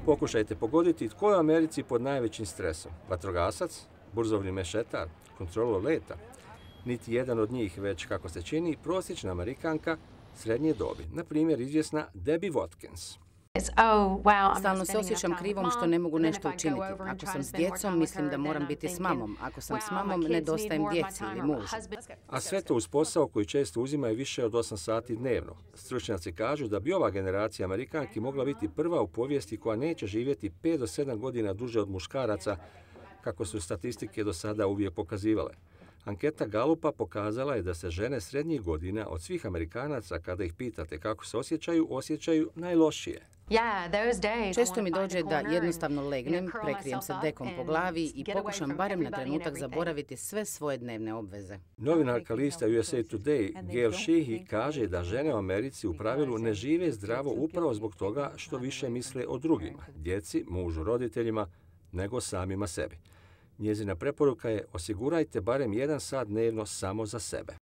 Pokušajte pogoditi tko je u Americi pod najvećim stresom. Vatrogasac, burzovni mešetar, kontrolor leta. Niti jedan od njih, već kako se čini, prosječna Amerikanka srednje dobi. Na primjer, izvjesna Debbie Watkins. Stalno se osjećam krivom što ne mogu nešto učiniti. Ako sam s djecom, mislim da moram biti s mamom. Ako sam s mamom, nedostajem djeci ili mužu. A sve to uz posao koji često uzima više od 8 sati dnevno. Stručnjaci kažu da bi ova generacija Amerikanki mogla biti prva u povijesti koja neće živjeti 5 do 7 godina duže od muškaraca, kako su statistike do sada uvijek pokazivale. Anketa Gallupa pokazala je da se žene srednjih godina od svih Amerikanaca, kada ih pitate kako se osjećaju najlošije. Često mi dođe da jednostavno legnem, prekrijem se dekom po glavi i pokušam barem na trenutak zaboraviti sve svoje dnevne obveze. Novinarka lista USA Today, Gail Sheehy, kaže da žene u Americi u pravilu ne žive zdravo upravo zbog toga što više misle o drugima, djeci, mužu, roditeljima, nego samima sebi. Njezina preporuka je: osigurajte barem 1 sat dnevno samo za sebe.